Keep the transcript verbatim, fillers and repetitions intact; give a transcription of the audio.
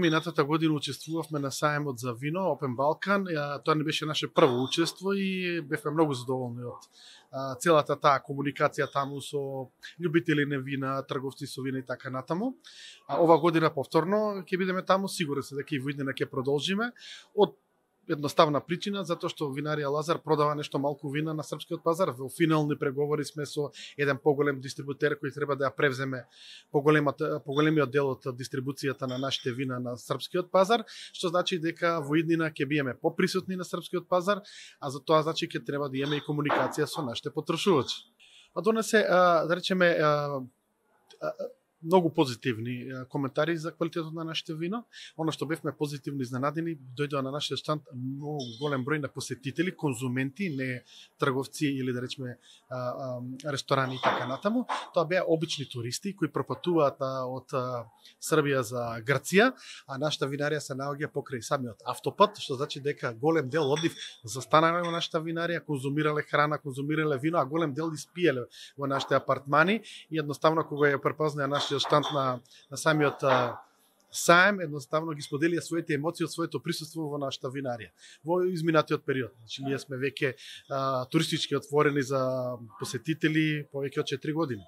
Минатата година учествувавме на сајмот за вино Open Balkan. Тоа не беше наше прво учество и бевме многу задоволни од целата таа комуникација таму со љубители на вина, трговци со вина и така натаму. Ова година повторно ќе бидеме таму, сигурен се дека и во иднина ќе продолжиме. Од едноставна причина, затоа што винарија Лазар продава нешто малку вина на српскиот пазар. Во финални преговори сме со еден поголем дистрибутер кој треба да ја превземе поголемиот дел од дистрибуцијата на нашите вина на српскиот пазар, што значи дека во иднина ќе биеме поприсутни на српскиот пазар, а за тоа значи ќе треба да имаме и комуникација со нашите потрошувачи. А донесе, да речеме, многу позитивни коментари за квалитетот на нашите вино. Оно што бевме позитивно изненадени, дојдоа на нашиот штанд многу голем број на посетители, конзументи, не трговци или да речеме ресторани и така натаму. Тоа беа обични туристи кои пропатуваат од Србија за Грција, а нашата винарија се наоѓа покрај самиот автопат, што значи дека голем дел од нив застанале во нашата винарија, конзумирале храна, конзумирале вино, а голем дел испиеле во нашите апартмани и едноставно кога ја препознаа нашиот штанд на, на самиот а, саем, едноставно ги споделија своите емоции од своето присуство во нашата винарија во изминатиот период. Значи, ние сме веќе туристички отворени за посетители повеќе од четири години.